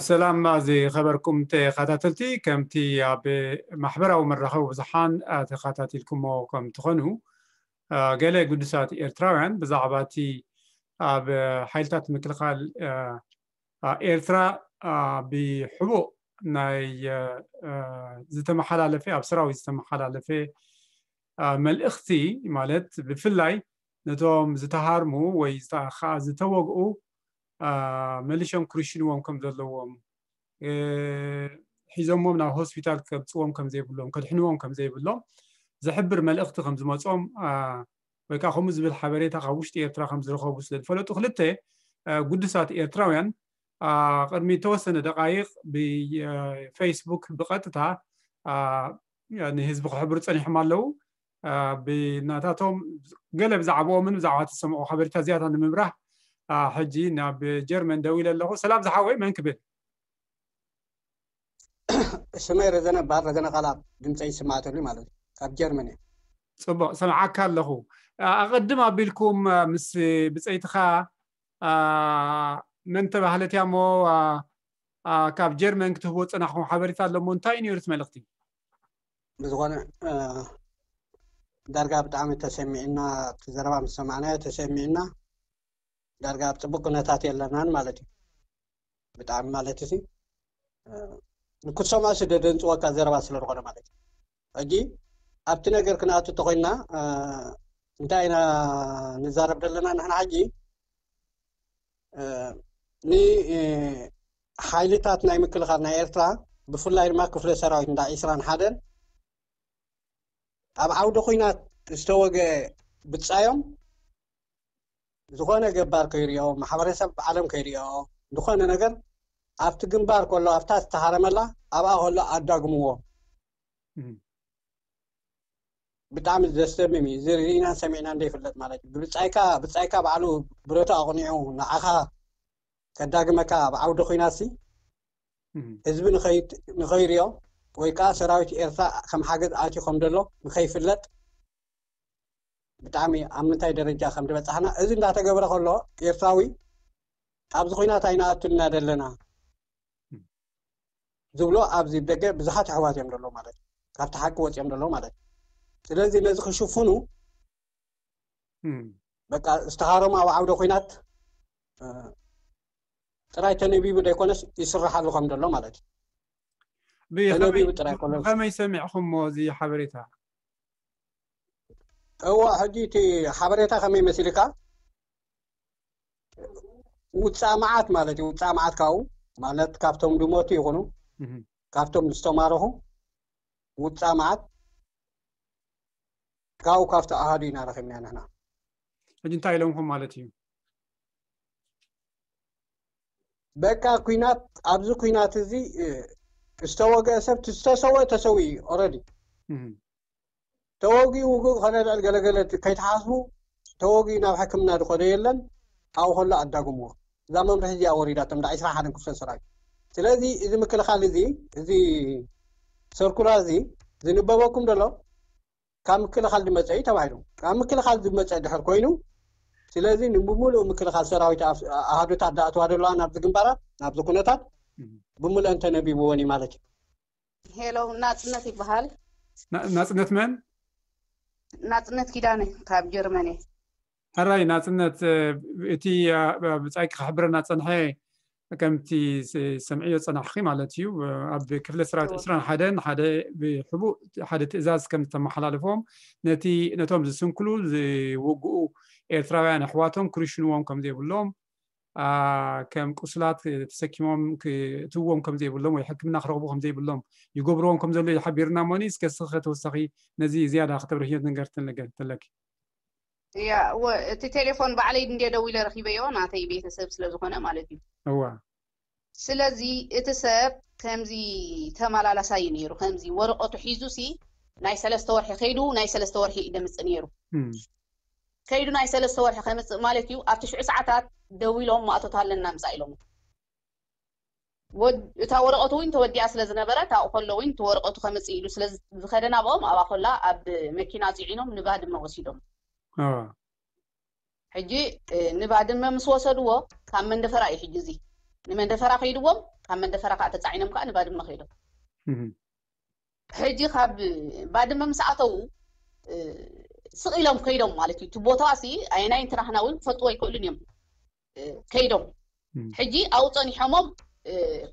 ሰላም ዝኸበርኩም ተኸታተልቲ፣ ከምቲ ኣብ ማሕበራዊ መራኸቢ ብዙሓን ተኸታቲልኩሞ ከም ትኾኑ፣ ገለ ግዱሳት ኤርትራውያን ብዛዕባ እቲ ኣብ ሓይልታት ምክልኻል ኤርትራ ብሕቡእ ናይ ዝተመሓላለፈ፣ ኣብ ሰራዊት ዝተመሓላለፈ መልእኽቲ፣ ማለት ብፍላይ ነቶም ዝተሃርሙ ወይ ከዓ ዝተወግኡ መሊሾም ክርሽንዎም ከም ዘለዎም፣ ሒዞሞም ናብ ሆስፒታል ከብፅዎም ከም ዘይብሎም፣ ከድሕንዎም ከም ዘይብሎም ዝሕብር መልእኽቲ ከም ዝመፆም፣ ወይ ከዓ ከምኡ ዝብል ሓበሬታ ካብ ውሽጢ ኤርትራ ከም ዝረኸቡ ስለ ዝፈለጡ፣ ክልተ ግዱሳት ኤርትራውያን ቅድሚ ተወሰነ ደቃይቕ ብፌስቡክ ብቐጥታ ንህዝቢ ክሕብሩ ፀኒሖም ኣለዉ። ብናታቶም ገለ ብዛዕባኦምን ብዛዕባ ተሰምዑ ሓበሬታ ዝያዳ ንምብራህ ሕጂ ናብ ጀርመን ደዊለ ኣለኹ። ሰላም ዝሓወይ፣ መን ክብል? ስመይ ረዘነ ባር ረዘነ ቃላብ ድምፀይ ይስማዕተሉ ማለት እዩ። ካብ ጀርመን እየ። ፅቡቕ፣ ሰምዓካ ኣለኹ። ኣቐድም ኣቢልኩም ምስ ብፀይትኻ መን ተባህለት እያ እሞ ካብ ጀርመን ክትህቦ ፅናሕኩም ሓበሬታ ኣሎ እሞ እንታይ እዩ ነይሩ እቲ መልእኽቲ? ብዝኾነ ዳርጋ ብጣዕሚ ተሰሚዕና፣ እቲ ዘረባ ምስ ሰማዕናዮ ተሰሚዕና፣ ዳርጋ ኣብ ፅቡቅ ኩነታት የለናን ማለት እዩ። ብጣዕሚ ማለት እዚ ንክትሰምዖ ስደደንፅወካ ዘረባ ስለ ዝኾነ ማለት እዩ። ሕጂ ኣብቲ ነገር ክንኣቱ ተኮይና እንታይ ኢና ንዛረብ ዘለና ንሕና ሕጂ ንሓይልታት ናይ ምክልኻል ናይ ኤርትራ፣ ብፍላይ ድማ ክፍለ ሰራዊት እንዳ ዒስራን ሓደን ኣብ ዓውዲ ኩናት ዝተወገ ብጻዮም ዝኾነ ገባር ከይሪኦ፣ ማሕበረሰብ ዓለም ከይሪኦ፣ ዝኾነ ነገር ኣብቲ ግንባር ከሎ ኣብታ ዝተሃረመላ ኣብኣ ከሎ ኣዳግምዎ። ብጣዕሚ ዘስደምም እዩ። እዚ ርኢናን ሰሚዕናን ዘይፍለጥ ማለት እዩ። ብብጻይካ ብጻይካ ባዕሉ ብረቱ ኣቕኒዑ ንዓኻ ከዳግመካ ኣብ ዓውዲ ኩናት ሲ ህዝቢ ንኸይሪኦ ወይ ከዓ ሰራዊት ኤርትራ ከም ሓገዝ ኣትዩ ከም ዘሎ ንኸይፍለጥ ብጣዕሚ ኣብ ምንታይ ደረጃ ከም ዝበጻሕና እዚ እንዳተገብረ ከሎ ኤርትራዊ ኣብዚ ኩናት ኣይንኣቱን ኢና ዘለና ዝብሎ ኣብዚ ደገ ብዙሓት ኣሕዋት እዮም ዘለዉ ማለት እዩ። ካብቲ ሓቂ ወፂኦም ዘለዉ ማለት እዩ። ስለዚ ነዚ ክሽፍኑ በቃ ዝተሃረሙ ኣብ ዓውደ ኩናት ጥራይ ተነቢቡ ዘይኮነስ ይስራሓሉ ከም ዘሎ ማለት እዩ። ተነቢቡ ጥራይ ኮነ ብኸመይ ሰሚዕኹሞ እዚ ሓበሬታ? እዋ ሕጂ እቲ ሓበሬታ ከመይ መሲልካ ውፃእ መዓት ማለት እዩ። ውፃእ መዓት ካብኡ ማለት ካብቶም ድሞቱ ይኹኑ ካብቶም ዝተማረኹ ውፃእ መዓት ካብኡ ካብቲ ኣሃዱ ኢና ረኺብና ንሕና። ሕጂ እንታይ ኢሎምኩም ማለት እዩ? በቃ ኩናት ኣብዚ ኩናት እዚ ዝተወገአ ሰብ ዝተሰወ ተሰዊ እዩ ኦረዲ ተወጊኡ ውግእ ኮነ ልዕል ገለገለ ከይተሓስቡ ተወጊኡ ናብ ሕክምና ዝኸዶ የለን። ኣብኡ ከሎ ኣዳግምዎ እዛ መምርሒ እዚኣ ወሪዳቶም እንዳ ዒስራ ሓደን ክፍለ ሰራዊት። ስለዚ እዚ ምክልኻል እዚ እዚ ሰርኩላር እዚ ዝንበበኩም ዘሎ ካብ ምክልኻል ዝመፀ እዩ ተባሂሉ። ካብ ምክልኻል ዝመፀ ድሕር ኮይኑ ስለዚ ንብሙሉእ ምክልኻል ሰራዊት ኣሃዱታት ዝኣትዋ ዘለዋ ናብዚ ግንባራት ናብዚ ኩነታት ብምሉአን ተነቢብዎን እዩ ማለት እዩ። ሄሎ ናፅነት ይበሃል። ናፅነት መን? ናፅነት ኪዳነ ካብ ጀርመን እየ። ሕራይ ናፅነት፣ እቲ ብፃይኪ ክሕብረና ፀንሐ ከምቲ ሰምዕዮ ፀናሕኺ ማለት እዩ። ኣብ ክፍለ ሰራዊት ዕስራን ሓደን ሓደ ብሕቡእ ሓደ ትእዛዝ ከም ዝተመሓላለፎም ነቲ ነቶም ዝስንክሉ ዝውግኡ ኤርትራውያን ኣሕዋቶም ክርሽንዎም ከም ዘይብሎም፣ ከም ቁስላት ተሰኪሞም ክትዎም ከም ዘይብሎም ወይ ሕክምና ክረኽቡ ከም ዘይብሎም ይገብርዎም ከም ዘሎ ይሓቢርና እሞኒ እስከ እስኸ ተወሳኺ ነዚ ዝያዳ ከተብርህዮ ነገር ተለኪ። ያ እቲ ቴሌፎን ባዕለይ እንደ ደዊለ ረኺበዮ ናተይ ቤተሰብ ስለ ዝኾነ ማለት እዩ። እዋ ስለዚ እቲ ሰብ ከምዚ ተመላላሳይ ነይሩ። ከምዚ ወረቀቱ ሒዙ ሲ ናይ ሰለስተ ወርሒ ከይዱ ናይ ሰለስተ ወርሒ እዩ ደምጽእ ነይሩ። ከይዱ ናይ ሰለስተ ወርሒ ከምጽእ ማለት እዩ። ኣብ ትሽዑ ሰዓታት ደዊሎም ማእቶት ኣለና ምጻእ ኢሎም። እታ ወረቀቱ እውን ተወዲኣ ስለ ዝነበረ ካብኡ ከሎ እውን እቲ ወረቀቱ ከምጽእ ኢሉ ስለ ዝኸደ ናብኦም ኣብኣ ከላ ኣብ መኪና ፅዒኖም ንባድመ ወሲዶም። ሕጂ ንባድመ ምስ ወሰድዎ ካብ መንደፈራ እዩ ሕጂ እዚ ንመንደፈራ ከይድዎም፣ ካብ መንደፈራ ከዓ ተፃዒኖም ከዓ ንባድመ ከይዶም። ሕጂ ካብ ባድመ ምስ ኣተዉ ስቕ ኢሎም ከይዶም ማለት እዩ። እቲ ቦታ ሲ ኣየናይ እንትናህና እውን ክፈልጥዎ ኣይክእሉን እዮም። ከይዶም ሕጂ ኣብኡ ፀኒሖሞም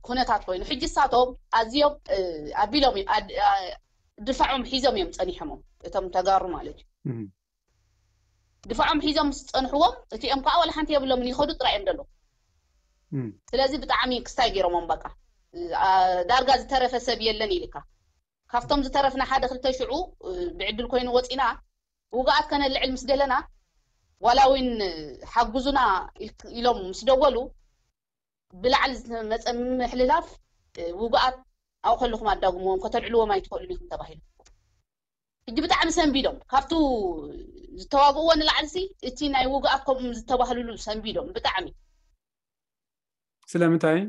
ኩነታት ኮይኑ፣ ሕጂ እሳቶም ኣዝዮም ኣቢሎም እዮም፣ ድፋዖም ሒዞም እዮም ፀኒሖሞም፣ እቶም ተጋሩ ማለት እዩ። ድፋዖም ሒዞም ምስ ፀንሕዎም፣ እቲኦም ከዓ ዋላ ሓንቲ የብሎምን፣ ይኸዱ ጥራይ እዮም ዘለዉ። ስለዚ ብጣዕሚ ክስታይ ገይሮሞም፣ በቃ ዳርጋ ዝተረፈ ሰብ የለን ኢልካ። ካብቶም ዝተረፍና ሓደ ክልተ ሽዑ ብዕድል ኮይኑ ወፂና፣ ውግኣት ከነልዕል ምስ ደለና፣ ዋላ እውን ሓጉዙና ኢሎም ምስ ደወሉ፣ ብላዕሊ ዝመፀ ምሕልላፍ፣ ውግኣት ኣብኡ ከለኹም ኣዳጉምዎም፣ ከተልዕልዎም ኣይትኽእሉን ኢኹም ተባሂሉ። ሕጂ ብጣዕሚ ሰንቢዶም፣ ካብቱ ዝተዋግእዎ ንላዕልሲ እቲ ናይ ውግኣት ከምኡ ዝተባህልሉ ሰንቢዶም ብጣዕሚ። ስለምንታይ?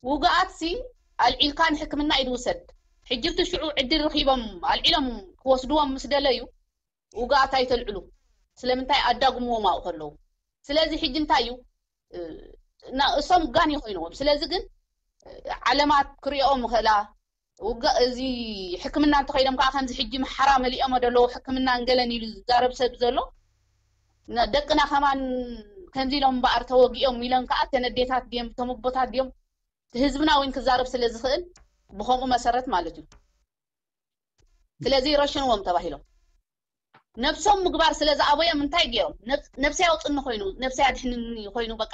ውግኣትሲ ኣልዒልካ ንሕክምና ኢድ ውሰድ። ሕጂ እቲ ሽዑ ዕድል ረኺቦም ኣልዒሎም ክወስድዎም ምስ ደለዩ፣ ውግኣት ኣይተልዕሉ። ስለምንታይ? ኣዳጉምዎም ኣብኡ ከለዉ። ስለዚ ሕጂ እንታይ እዩ? እሶም ጋን ይኮይንዎም። ስለዚ ግን ዓለማት ክሪኦም ይኽእላ። ውግእ እዚ ሕክምና እንተኸይዶም ከዓ ከምዚ ሕጂ ምሓራ መሊኦም ደለዉ ሕክምና እንገለን ኢሉ ዝዛረብ ሰብ ዘሎ፣ ደቅና ከማን ከምዚ ኢሎም እምበኣር ተወጊኦም ኢለን ከዓ ተነዴታት ድዮም ተመቦታት ድዮም ህዝብና እውን ክዛረብ ስለ ዝኽእል ብከምኡ መሰረት ማለት እዩ። ስለዚ ረሽንዎም ተባሂሎም ነብሶም ምግባር ስለ ዝኣበዮም እንታይ ገይሮም? ነብሰይ ኣውፅኒ ኮይኑ ነብሰይ ኣድሕንኒ ኮይኑ በቃ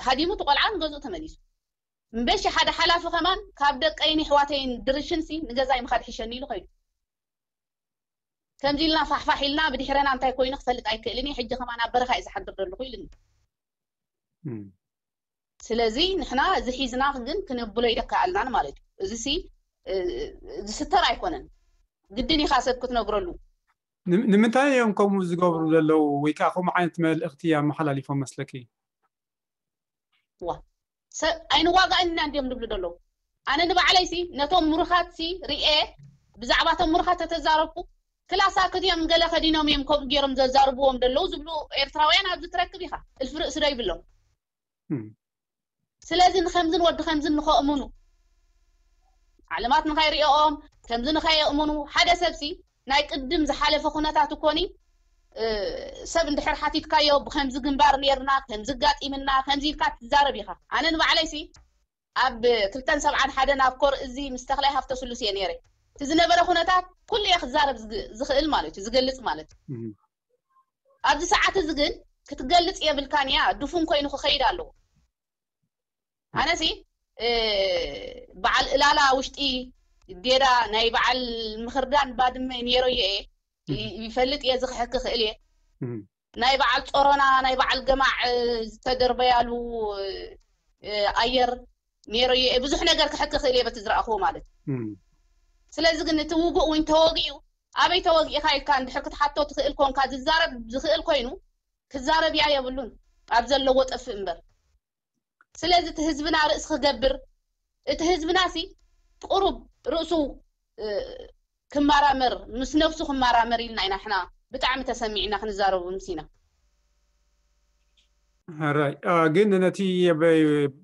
ሃዲሙ እቲ ቆልዓ ንገዝኡ ተመሊሱ። እምበሺ ሓደ ሓላፊ ከማን ካብ ደቀይን ኣሕዋተይን ድርሽንሲ ንገዛይ ምኻድ ሕሸኒ ኢሉ ከይዱ። ከምዚ ኢልና ፋሕፋሕ ኢልና ብድሕረና እንታይ ኮይኑ ክፈልጥ ኣይክእልን እየ። ሕጂ ከማን ኣብ በረኻ እየ ዝሓድር ዘለኹ ኢሉኒ። ስለዚ ንሕና እዚ ሒዝና ግን ክነብሎ ይደካኣልናን ማለት እዩ። እዚ ሲ ዝስተር ኣይኮነን። ግድን ኢኻ ሰብ ክትነግረሉ። ንምንታይ እዮም ከምኡ ዝገብሩ ዘለዉ? ወይ ከዓ ከምኡ ዓይነት መልእኽቲ ኣመሓላሊፎም መስለኪ? ዋ ሰብ ኣይንዋጋእን ኢና እንዲዮም ዝብሉ ዘለዉ። ኣነ ንባዕለይሲ ነቶም ምሩኻትሲ ርኤ ብዛዕባ እቶም ምሩኻት ተተዛረብኩ ክላሳክት እዮም ገለ ከዲኖም እዮም ከምኡ ገይሮም ዘዛርብዎም ዘለዉ ዝብሉ ኤርትራውያን ኣብዚ ትረክብ ኢኻ። እልፊ ርእሲ ዶ ይብሎም? ስለዚ ንከምዝን ወዲ ከምዝን ንኸእምኑ ዓለማት ንኸይሪኦም ከምዚ ንኸየእምኑ ሓደ ሰብሲ ናይ ቅድም ዝሓለፈ ኩነታት እኮኒ ሰብ እንድሕር ሓቲትካዮ ብከምዚ ግንባር ነርና ከምዚ ጋጢምና ከምዚ ኢልካ ትዛረብ ኢኻ። ኣነ ንባዕለይሲ ኣብ ክልተን ሰብዓን ሓደን ኣብ ኮር እዚ ምስ ተኽላይ ሃፍተ ስሉስ እየ ነይረ። እቲ ዝነበረ ኩነታት ኩሉ እየ ክዛረብ ዝኽእል ማለት እዩ ዝገልፅ ማለት እዩ። ኣብዚ ሰዓት እዚ ግን ክትገልፅ የብልካን እያ ድፉን ኮይኑ ክኸይድ ኣለዎ። ኣነሲ በዓል እላላ ውሽጢ ዴዳ ናይ በዓል ምኽርዳን ባድመ ነይረዮ እየ ይፈልጥ እየ ዝክሕክ ክእል እየ። ናይ በዓል ጾሮና ናይ በዓል ገማዕ ዝተደርበያሉ ኣየር ነይረዮ እየ ብዙሕ ነገር ክሕክ ክእል እየ በቲ ዝረኣኽዎ ማለት እዩ። ስለዚ ግን እቲ ውጉእ እውን ተወጊኡ ኣበይ ተወጊእካ ኢልካ እንድሕር ክትሓቶ ትኽእል ኮንካ ዝዛረብ ዝኽእል ኮይኑ ክዛረብ እያ የብሉን ኣብ ዘለዎ ጠፍእ እምበር። ስለዚ እቲ ህዝብና ርእሲ ክገብር እቲ ህዝብና ሲ ቁሩብ ርእሱ ክመራመር ምስ ነብሱ ክመራመር ኢልና ኢና ሕና ብጣዕሚ ተሰሚዕና ክንዛረቡ ምስ ኢና። ሕራይ ግን ነቲ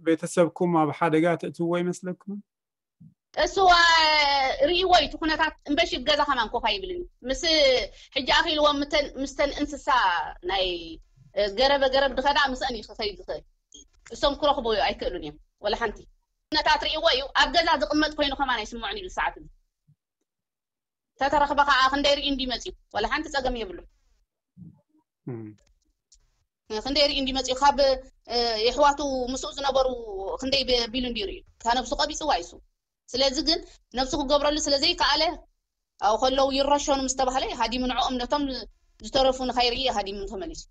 ቤተሰብኩም ኣብ ሓደጋ ተእትዎ ይመስለኩም? እሱ ርእይዎ እዩ እቲ ኩነታት እምበሽ ገዛ ከማን ኮፍ ኣይብልን ምስ ሕጂ ኣኺልዎም ምስተን እንስሳ ናይ ገረበ ገረብ ድኸዳ ምስአን እዩ ክኸይድ ዝኽእል እሶም ክረኽቡ ኣይክእሉን እዮም ወላ ሓንቲ ኩነታት ርእይዎ እዩ ኣብ ገዛ ዝቕመጥ ኮይኑ ከማን ኣይስምዖን እዩ ሰዓት ተተረኽበ ከዓ ክንደይ ርኢ እንዲ መፅዩ ወላ ሓንቲ ፀገም የብሉ ክንደይ ርኢ እንዲ መፅዩ ካብ የሕዋቱ ምስኡ ዝነበሩ ክንደይ ቢሉ እንዲ ርእዩ እታ ነብሱ ቀቢፅዋ ይሱ ስለዚ ግን ነብሱ ክገብረሉ ስለዘይከኣለ ኣብኡ ከለዉ ይረሸኑ ምስ ተባህለ ሃዲሙ ንዕኦም ነቶም ዝተረፉ ንኸይርኢ ሃዲሙ ተመሊሱ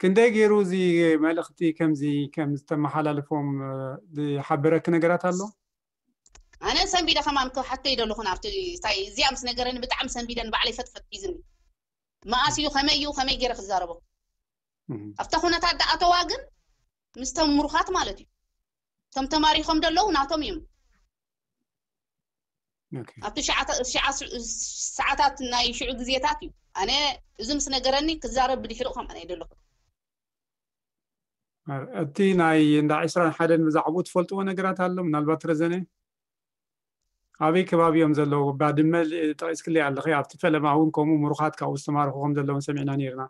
ክንደይ ገይሩ እዚ መልእኽቲ ከምዚ ከም ዝተመሓላልፎም ዝሓበረኪ ነገራት ኣሎ? ኣነ ሰንቢደ ከማን ክሓቶ ይደለኹ ናብቲ እንታይ እዚኣ ምስ ነገረኒ ብጣዕሚ ሰንቢደ ንባዕለይ ፈጥፈጥ ሒዝኒ መኣስ እዩ ከመይ እዩ ከመይ ገይረ ክዛረቦ ኣብታ ኩነታት ደኣተዋ ግን ምስቶም ምሩኻት ማለት እዩ እቶም ተማሪኾም ደለዉ ናቶም እዮም ኣብቲ ሰዓታት ናይ ሽዑ ግዜታት እዩ ኣነ እዚ ምስ ነገረኒ ክዛረብ ብድሕሪኡ ከም ኣነ ይደለኹ እቲ ናይ እንዳ ዕስራን ሓደን ብዛዕባኡ ትፈልጥዎ ነገራት ኣሎ? ምናልባት ረዘነ ኣበይ ከባቢ እዮም ዘለዉ? ባድመ ጠቂስክለይ ኣለኺ። ኣብቲ ፈለማ እውን ከምኡ ምሩኻት ካብኡ ዝተማረኹ ከም ዘለውን ሰሚዕና ነይርና።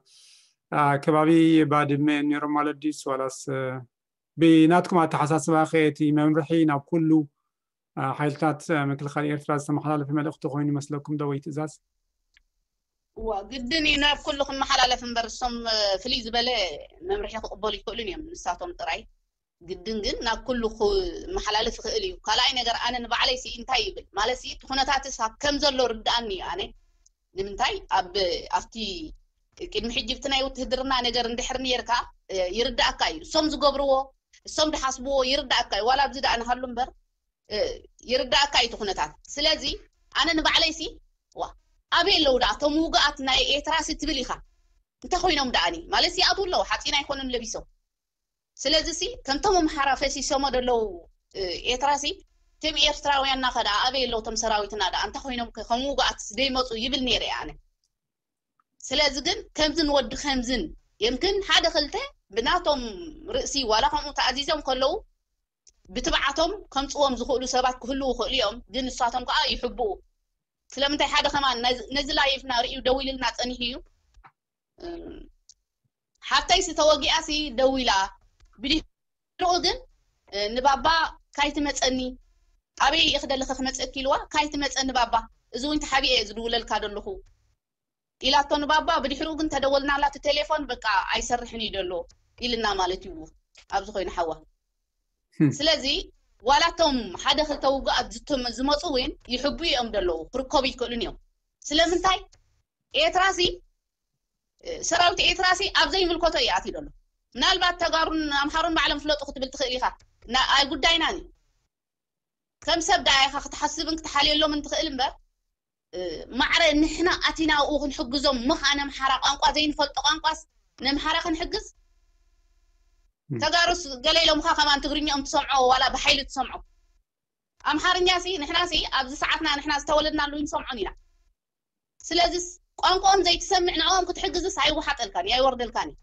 ከባቢ ባድመ እዮም ነይሮም ማለት ድዩስ ዋላስ ብናትኩም ኣተሓሳስባ ከ እቲ መምርሒ ናብ ኩሉ ሓይልታት ምክልኻል ኤርትራ ዝተመሓላለፈ መልእኽቲ ኮይኑ ይመስለኩም ዶ ወይ ትእዛዝ? እዋ ግድን እዩ ናብ ኩሉ ክመሓላለፍ እምበር እሶም ፍልይ ዝበለ መምርሒ ክቕበሉ ይኽእሉን እዮም ንሳቶም ጥራይ። ግድን ግን ናብ ኩሉ ክመሓላለፍ ይኽእል እዩ። ካልኣይ ነገር ኣነ ንባዕለይ ሲ እንታይ ይብል ማለት ሲ እቲ ኩነታትስ ኣብ ከም ዘሎ ርድኣኒ እዩ። ኣነ ንምንታይ ኣብ ኣብቲ ቅድሚ ሕጂ ብቲ ናይ ውትህድርና ነገር እንድሕር ነርካ ይርዳእካ እዩ። እሶም ዝገብርዎ እሶም ድሓስብዎ ይርዳእካ እዩ። ዋላ ኣብዚ ደኣ ንሃሉ እምበር ይርዳእካ እዩ እቲ ኩነታት። ስለዚ ኣነ ንባዕለይ ሲ ዋ ኣበይ ኣለዉ ደኣ እቶም ውግኣት ናይ ኤርትራ ሲ ትብል ኢኻ። እንታይ ኮይኖም ደኣኒ ማለት ይኣትዉ ኣለዉ ሓፂን ኣይኮኑን ለቢሶም። ስለዚ ሲ ከምቶም ኣምሓራ ፈሲሶሞ ዘለዉ ኤርትራ ሲ እቶም ኤርትራውያንና ከ ደኣ ኣበይ ኣለዉ እቶም ሰራዊትና ደኣ እንታይ ኮይኖም ከ ከም ውግኣት ደይመፁ ይብል ነይረ ኣነ። ስለዚ ግን ከምዝን ወዲ ከምዝን የምክን ሓደ ክልተ ብናቶም ርእሲ ዋላ ከምኡ ተኣዚዞም ከለዉ ብትብዓቶም ከምፅዎም ዝኽእሉ ሰባት ክህልዉ ይኽእሉ እዮም። ግን ንሳቶም ከዓ ይሕብኡ። ስለምንታይ ሓደ ከማን ነዚ ላይፍና ርእዩ ደዊልልና ፀኒሑ እዩ። ሓፍተይ ስተወጊኣ ሲ ደዊላ ብድሕሪኡ ግን ንባባ ካይትመፀኒ ኣበይ ኢኺ ደለኺ ክመፀኪ ኢልዋ ካይትመፀኒ ባባ እዚ እውን ተሓቢኤ ዝድውለልካ ደለኹ ኢላቶ ንባባ። ብድሕሪኡ ግን ተደወልናላ እቲ ቴሌፎን በቃ ኣይሰርሕን እዩ ደሎ ኢልና ማለት እዩ ኣብዚ ኮይኑ ሓዋ። ስለዚ ዋላቶም ሓደ ክልተ ውጉኣት ዝመፁ እውን ይሕቡ እዮም ደለዉ ክርከቡ ይክእሉን እዮም። ስለምንታይ ኤርትራሲ ሰራዊት ኤርትራሲ ኣብ ዘይምልከቶ እዩ ኣትዩ ደሎ። ምናልባት ተጋሩን ኣምሓሩን ባዕሎም ፍለጡ ክትብል ትኽእል ኢኻ። ኣይ ጉዳይናን እዩ። ከም ሰብ ደኣ ኢኻ ክትሓስብን ክትሓልየሎምን ትኽእል እምበር ማዕረ ንሕና ኣቲና ኣብኡ ክንሕግዞም ምኽ ኣነ ኣምሓራ ቋንቋ ዘይንፈልጦ ቋንቋስ ነምሓራ ክንሕግዝ ተጋሩስ ገለ ኢሎምኻ ከማን ትግርኛኦም ትሰምዖ ዋላ ብሓይሊ ትሰምዖ። ኣምሓርኛ ሲ ንሕና ሲ ኣብዚ ሰዓትና ንሕና ዝተወለድናሉ ንሰምዖን ኢና። ስለዚስ ቋንቋኦም ዘይትሰምዕ ንዕኦም ክትሕግዝስ ኣይወሓጠልካን ኣይወርደልካን እዩ።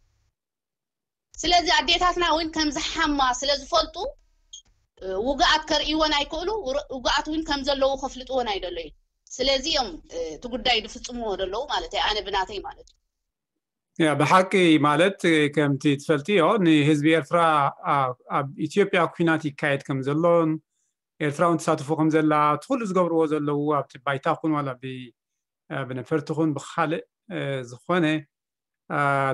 ስለዚ ኣዴታትና እውን ከም ዝሓማ ስለ ዝፈልጡ ውግኣት ከርእይወን ኣይክእሉ ውግኣት እውን ከም ዘለዉ ከፍልጥወን ኣይደለዩ። ስለዚ እዮም እቲ ጉዳይ ዝፍፅምዎ ዘለዉ ማለት እዩ ኣነ ብናተይ ማለት እዩ። ያ ብሓቂ ማለት ከምቲ ትፈልጥዮ ንህዝቢ ኤርትራ ኣብ ኢትዮጵያ ኩናት ይካየድ ከም ዘሎን ኤርትራ እውን ተሳትፎ ከም ዘላ እቲ ኩሉ ዝገብርዎ ዘለዉ ኣብቲ ባይታ ኩን ዋላ ብነፈርቲ ኩን ብካልእ ዝኾነ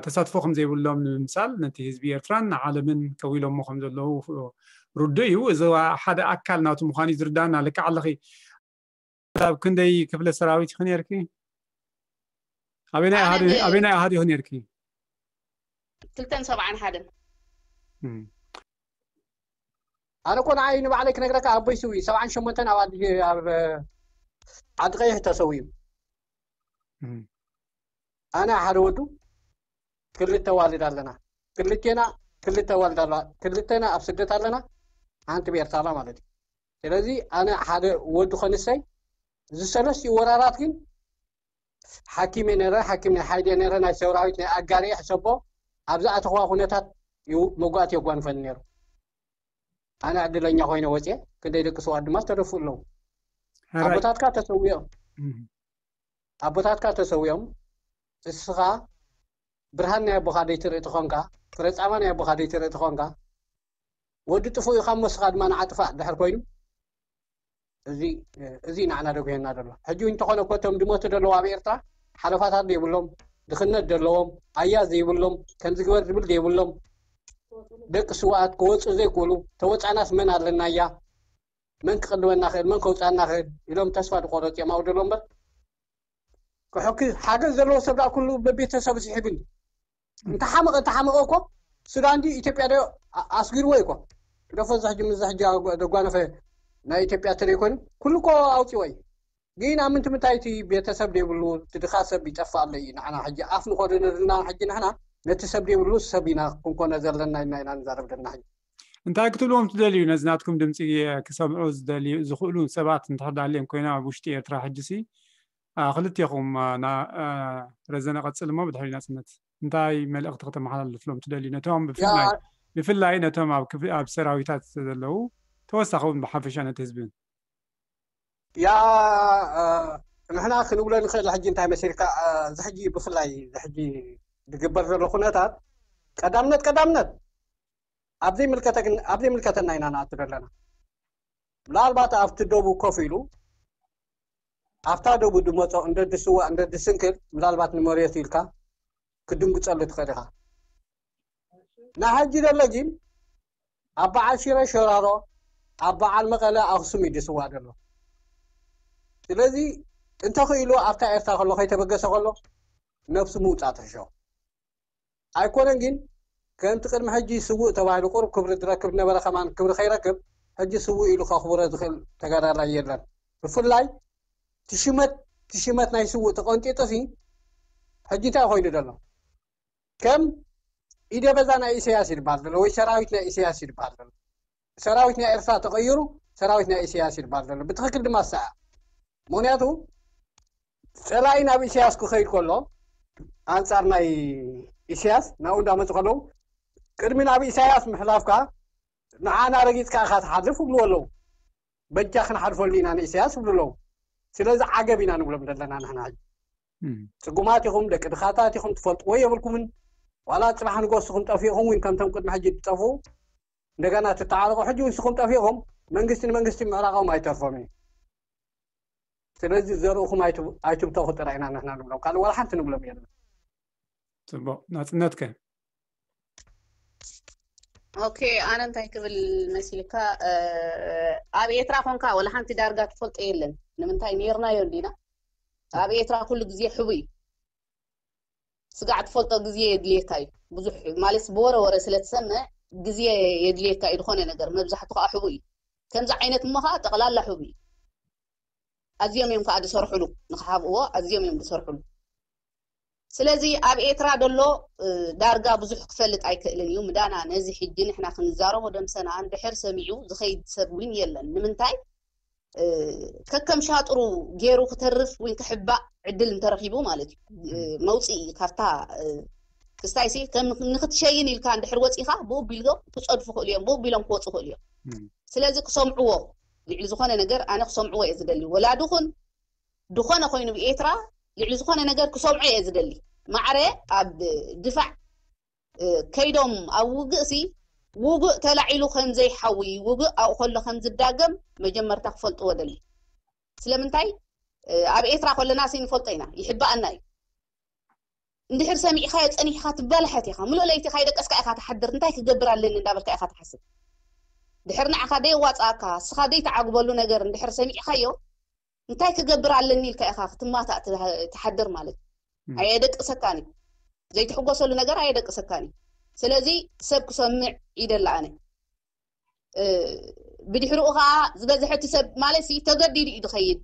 ተሳትፎ ከም ዘይብሎም ንምምሳል ነቲ ህዝቢ ኤርትራን ንዓለምን ከዊሎሞ ከም ዘለዉ ርዱእ እዩ። እዚ ሓደ ኣካል ናቱ ምዃኑ እዩ ዝርዳና። ልክዕ ኣለኺ። ኣብ ክንደይ ክፍለ ሰራዊት ኢኺ ነርኪ? ኣበናይ ኣሃዱ ኣበናይ ኣሃዱ ኢኺ ነርኪ? ክልተን ሰብዓን ሓደን ኣነ እኮ ንዓይ ንባዕለይ ክነግረካ ኣቦይ ስዊ ሰብዓን ሸሞንተን ኣብ ዓዲ ቀይሕ ተሰዊኡ። ኣነ ሓደ ወዱ ክልተ ዋልድ ኣለና። ክልቴና ክልተ ዋልድ ኣለና። ክልተና ኣብ ስደት ኣለና። ሓንቲ ቤርታላ ማለት እዩ። ስለዚ ኣነ ሓደ ወዱ ከንሰይ እዚ ሰለስቲኡ ወራራት ግን ሓኪም ነረ ሓኪም ናይ ሓይሊ ነረ ናይ ሰውራዊት ናይ ኣጋር ሕሰቦ ኣብዚ ኣተኽዋ ኩነታት እዩ መጓእቲ የጓንፈኒ ነይሩ። ኣነ ዕድለኛ ኮይነ ወፅየ። ክንደይ ደቂ ስውኣት ድማ ዝተደፍኡ ኣለዉ። ኣቦታትካ ተሰዊኦም ኣቦታትካ ተሰዊኦም እስኻ ብርሃን ናይ ኣቦኻ ደይትርኢ ተኾንካ ፍረፃማ ናይ ኣቦኻ ደይትርኢ ተኾንካ ወዲ ጥፉእ ኢኻ እሞ እስኻ ድማ ንዓጥፋእ ድሕር ኮይኑ እዚ እዚ ንዓና ደጉሄና ዘሎ ሕጂ እንተኾነ እኮ እቶም ድሞቱ ደለዉ ኣብ ኤርትራ ሓለፋታት ዘይብሎም ድኽነት ደለዎም ኣያ ዘይብሎም ከምዚ ግበር ዝብል ዘይብሎም ደቂ ስውኣት ክወፁ ዘይክእሉ ተወፃናስ መን ኣለና እያ መን ክቕልበና ክእል መን ከውፃና ክእል ኢሎም ተስፋ ዝቆረፅ እዮም ኣብኡ ደሎ እምበር ክሕኪ ሓገዝ ዘለዎ ሰብ ዳ ኩሉ በቤተሰብ ዝሕብን እንተሓመቐ እንተሓመቐ እኮ ሱዳን ድዩ ኢትዮጵያ ዶ ኣስጊርዎ እኮ ደፎ እዚ ሕጂ ምስ ሕጂ ዘጓነፈ ናይ ኢትዮጵያ ትርኢ ኮይኑ ኩሉ እኮ ኣውፂዎ እዩ ግን ኣብ ምንቲ ምንታይ እቲ ቤተሰብ ዘይብሉ እቲ ድኻ ሰብ ይጠፍእ ኣሎ እዩ ንዓና ሕጂ ኣፍ ንኾደነልና ሕጂ ንሕና ነቲ ሰብ ዘይብሉ ሰብ ኢና ክንኮነ ዘለና ኢልና ኢና ንዛረብ ዘለና ሕጂ እንታይ ክትብልዎም ትደልዩ ነዚ ናትኩም ድምፂ ክሰምዑ ዝደልዩ ዝኽእሉ ሰባት እንድሕር ዳልዮም ኮይኖም ኣብ ውሽጢ ኤርትራ ሕጂ ሲ ክልቴኹም ረዘነ ቀፅል እሞ ብድሕሪ ናፅነት እንታይ መልእኽቲ ከተመሓላልፍሎም ትደልዩ ነቶም ብፍላይ ብፍላይ ነቶም ኣብ ክፍ- ኣብ ሰራዊታት ዘለዉ፣ ተወሳኺ እውን ብሓፈሻ ነቲ ህዝቢ። ያ ንሕና ክንብሎ ንኽእል ሕጂ እንታይ መሲልካ፣ እዚ ሕጂ ብፍላይ እዚ ሕጂ ዝግበር ዘሎ ኩነታት ቀዳምነት ቀዳምነት ኣብ ዘይምልከተና ኢና ንኣቱ ዘለና። ምናልባት ኣብቲ ደቡብ ኮፍ ኢሉ ኣብታ ደቡብ ድመፆ እንደ ድስዋ እንደ ድስንክል ምናልባት ንመሬቱ ኢልካ ክድንግፀሉ ትኽእል ኢኻ። ንሕጂ ዘሎ ግን ኣብ በዓል ሽረ ሸራሮ ኣብ በዓል መቐለ ኣኽሱም እዩ ድስዋ ዘሎ። ስለዚ እንተኽኢሉ ኣብታ ኤርትራ ከሎ ከይተበገሰ ከሎ ነብሱ ምውፃእ ትሕሾ ኣይኮነን። ግን ከምቲ ቅድሚ ሕጂ ስውእ ተባሂሉ ቁሩብ ክብሪ ዝረክብ ነበረ ከማን ክብሪ ከይረክብ ሕጂ ስውእ ኢሉ ከኽብሮ ዝኽእል ተጋዳላይ የለን። ብፍላይ ትሽመት ትሽመት ናይ ስውእ ተቐንጢጡ ሲ ሕጂ እንታይ ኮይኑ ዘሎ? ከም ኢደ በዛ ናይ ኢሳያስ ይድበሃል ዘሎ ወይ ሰራዊት ናይ ኢሳያስ ይድበሃል ዘሎ። ሰራዊት ናይ ኤርትራ ተቐይሩ ሰራዊት ናይ ኢሳያስ ይድበሃል ዘሎ። ብትኽክል ድማ ሰኣ ምክንያቱ ፀላኢ ናብ ኢሳያስ ክኸይድ ከሎ ኣንፃር ናይ ኢሳያስ ናብኡ እንዳመፁ ከለዉ ቅድሚ ናብ ኢሳያስ ምሕላፍካ ንዓና ረጊፅካ ኢኻ ትሓልፍ ይብልዎ ኣለዉ። በጃ ክንሓልፈሉ ኢና ንኢሳያስ ይብሉ ኣለዉ። ስለዚ ዓገብ ኢና ንብሎም ዘለና ንሕና ሕጂ። ጽጉማት ኢኹም፣ ደቂ ድኻታት ኢኹም፣ ትፈልጥዎ የብልኩምን። ዋላ ጽባሕ ንጎስኹም ጠፊእኹም እውን ከምቶም ቅድሚ ሕጂ ትጠፍኡ እንደገና ትተዓረቑ። ሕጂ ንስኹም ጠፊእኹም መንግስቲ ንመንግስቲ ምዕራቖም ኣይተርፎም እዩ። ስለዚ ዘርእኹም ኣይትብተኹ ጥራይ ኢና ንሕና ንብሎም፣ ካልእ ዋላ ሓንቲ ንብሎም የለን። ጽቡቕ ናጽነትከ? ኦኬ፣ ኣነ እንታይ ክብል መሲልካ፣ ኣብ ኤርትራ ኮንካ ወላ ሓንቲ ዳርጋ ትፈልጦ የለን። ንምንታይ ኔርናዮ እንዲና። ኣብ ኤርትራ ኩሉ ግዜ ሕቡ እዩ። ስጋዕ ትፈልጦ ግዜ የድልየካ እዩ። ብዙሕ ማለት ብወረ ወረ ስለ ትሰምዕ ግዜ የድልየካ እዩ። ዝኾነ ነገር መብዛሕቱ ከዓ ሕቡ እዩ። ከምዚ ዓይነት እሞ ከዓ ጠቕላላ ሕቡ እዩ። ኣዝዮም እዮም ከዓ ዝሰርሕሉ፣ ንክሓብእዎ ኣዝዮም እዮም ዝሰርሕሉ። ስለዚ ኣብ ኤርትራ ደሎ ዳርጋ ብዙሕ ክፈልጥ ኣይክእልን እዩ። ምዳና ነዚ ሕጂ ንሕና ክንዛረቦ ደምሰና እንድሕር ሰሚዑ ዝኸይድ ሰብ እውን የለን። ንምንታይ ከከም ሻጥሩ ገይሩ ክተርፍ ወይ ክሕባእ ዕድል እንተረኺቡ ማለት እዩ። መውፅኢ ካብታ ክስታይ ሲ ንክትሸይን ኢልካ እንድሕር ወፂኻ ብኡ ቢሎም ክፀድፉ ክእሉ እዮም፣ ብኡ ቢሎም ክወፁ ክእሉ እዮም። ስለዚ ክሰምዕዎ ልዕሊ ዝኾነ ነገር ኣነ ክሰምዕዎ እየ ዝደሊ። ወላዲ ኹን ዝኾነ ኮይኑ ብኤርትራ ልዕሊ ዝኾነ ነገር ክሰምዖ እየ ዝደሊ። ማዕረ ኣብ ድፋዕ ከይዶም ኣብ ውግእ ሲ ውግእ ተላዒሉ ከም ዘይሓዊ ውግእ ኣብኡ ከሎ ከም ዝዳገም መጀመርታ ክፈልጥዎ ደሊ። ስለምንታይ ኣብ ኤርትራ ከለና ሲ ንፈልጦ ኢና፣ ይሕባኣና እዩ። እንድሕር ሰሚዕኻዮ ጸኒሕካ ትበላሐት ኢኻ። ምሉእ ለይቲ ካይደቀስካ ኢኻ ትሓድር። እንታይ ክገብር ኣለኒ እንዳበልካ ኢኻ ትሓስብ። ድሕር ንዓኻ ደየዋጻኣካ፣ እስኻ ደይትዓግበሉ ነገር እንድሕር ሰሚዕካዮ እንታይ ክገብር ኣለኒ ኢልካ ኢኻ ክትማታእ ትሓድር ማለት እዩ። ኣየደቅሰካን እዩ። ዘይትሕጎሰሉ ነገር ኣየደቅሰካን እዩ። ስለዚ ሰብ ክሰምዕ ይደሊ ኣነ። ብድሕሪኡ ከዓ ዝበዝሐ እቲ ሰብ ማለት ሲ ተገዲዱ እዩ ዝኸይድ።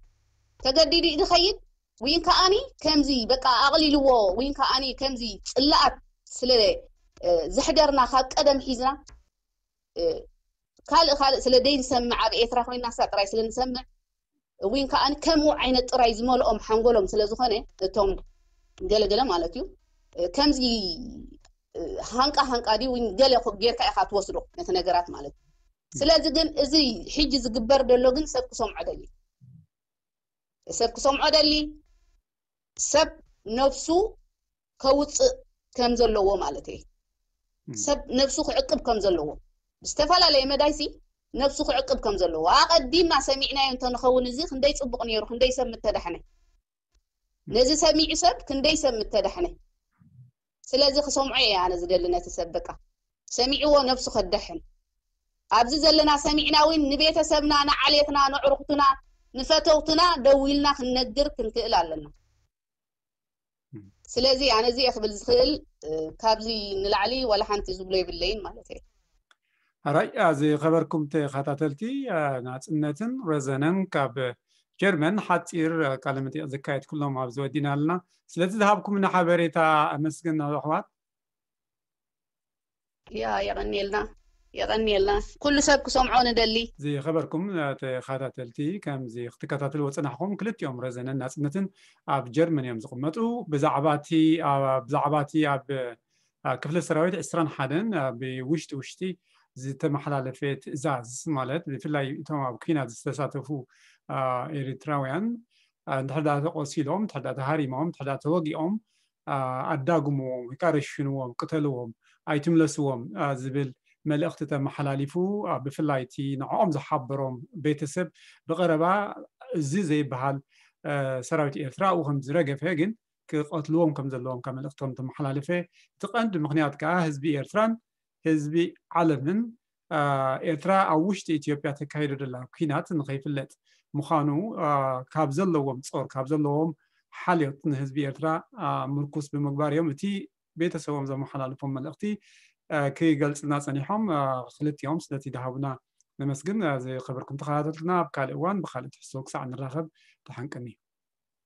ተገዲዱ እዩ ዝኸይድ። ወይን ከዓኒ ከምዚ በቃ ኣቕሊልዎ ወይን ከዓኒ ከምዚ ጽላኣት ስለ ዘሕደርና ካብ ቀደም ሒዝና ካልእ ካልእ ስለ ደይ ንሰምዕ ኣብ ኤርትራ ኮይና ሳ ጥራይ ስለ ንሰምዕ እውን ከዓኒ ከምኡ ዓይነት ጥራይ ዝመልኦም ሓንጎሎም ስለ ዝኾነ እቶም ገለገለ ማለት እዩ ከምዚ ሃንቃ ሃንቃ ድዩ ወይ ገለ ጌርካ ኢኻ ትወስዶ ነቲ ነገራት ማለት እዩ። ስለዚ ግን እዚ ሕጂ ዝግበር ዘሎ ግን ሰብ ክሰምዖ ደሊ ሰብ ክሰምዖ ደሊ ሰብ ነብሱ ከውፅእ ከም ዘለዎ ማለት እዩ። ሰብ ነብሱ ክዕቅብ ከም ዘለዎ ብዝተፈላለየ መዳይሲ ነብሱ ክዕቅብ ከም ዘለዎ ኣቐዲምና ሰሚዕናዮ እንተንኸውን እዚ ክንደይ ፅቡቕ ነይሩ፣ ክንደይ ሰብ ምተዳሕነ። ነዚ ሰሚዑ ሰብ ክንደይ ሰብ ምተዳሕነ። ስለዚ ክሰምዖ እየ ኣነ ዝደሊ ነቲ ሰብ በቃ ሰሚዕዎ ነብሱ ከዳሕን። ኣብዚ ዘለና ሰሚዕና እውን ንቤተሰብና፣ ንዓሌትና፣ ንዕሩኽትና፣ ንፈተውትና ደዊልና ክንነግር ክንክእል ኣለና። ስለዚ ኣነ እዚ እየ ክብል ዝኽእል። ካብዚ ንላዕሊ ዋላ ሓንቲ ዝብሎ የብለይን ማለት እየ። ኣራይ ዝኸበርኩም ተኸታተልቲ ናፅነትን ረዘነን ካብ ጀርመን ሓፂር ቃለ መጠይቕ ዘካየድኩሎም ኣብዚ ወዲና ኣለና። ስለዚ ዝሃብኩምና ሓበሬታ ኣመስግን ኣሕዋት። ያ የቐንየልና የቐንየልና ኩሉ ሰብ ክሰምዖ ንደሊ። ዝኸበርኩም ተኸታተልቲ ከምዚ ክትከታተልዎ ዝፀናሕኹም ክልቲኦም ረዘነን ናፅነትን ኣብ ጀርመን እዮም ዝቕመጡ። ብዛዕባ እቲ ብዛዕባ እቲ ኣብ ክፍለ ሰራዊት ዕስራን ሓደን ብውሽጢ ውሽጢ ዝተመሓላለፈ ትእዛዝ፣ ማለት ብፍላይ እቶም ኣብ ኲናት ዝተሳተፉ ኤርትራውያን እንድሕር ዳ ተቆሲሎም፣ እንድሕር ዳ ተሃሪሞም፣ እንድሕር ዳ ተወጊኦም ኣዳግምዎም ወይ ከዓ ረሽንዎም፣ ቅተልዎም፣ ኣይትምለስዎም ዝብል መልእኽቲ ተመሓላሊፉ፣ ብፍላይ እቲ ንዕኦም ዝሓበሮም ቤተሰብ ብቐረባ እዚ ዘይበሃል ሰራዊት ኤርትራ ኣብኡ ከም ዝረገፈ፣ ግን ክቐትልዎም ከም ዘለዎም ካብ መልእኽቶም ተመሓላለፈ። እቲ ቀንዲ ምኽንያት ከዓ ህዝቢ ኤርትራን ህዝቢ ዓለምን ኤርትራ ኣብ ውሽጢ ኢትዮጵያ ተካይዶ ዘላ ኲናት ንኸይፍለጥ ምዃኑ፣ ካብ ዘለዎም ጾር፣ ካብ ዘለዎም ሓልዮት ንህዝቢ ኤርትራ ምርኩስ ብምግባር እዮም እቲ ቤተሰቦም ዘመሓላልፎም መልእኽቲ ክገልጽልና ጸኒሖም። ክልቲኦም ስለቲ ዝሃቡና ነመስግን። ዝኸበርኩም ተኸታተልትና፣ ኣብ ካልእ እዋን ብኻልእ ትሕዝቶ ክሳዕ ንራኸብ፣ ደሓን ቅኒ።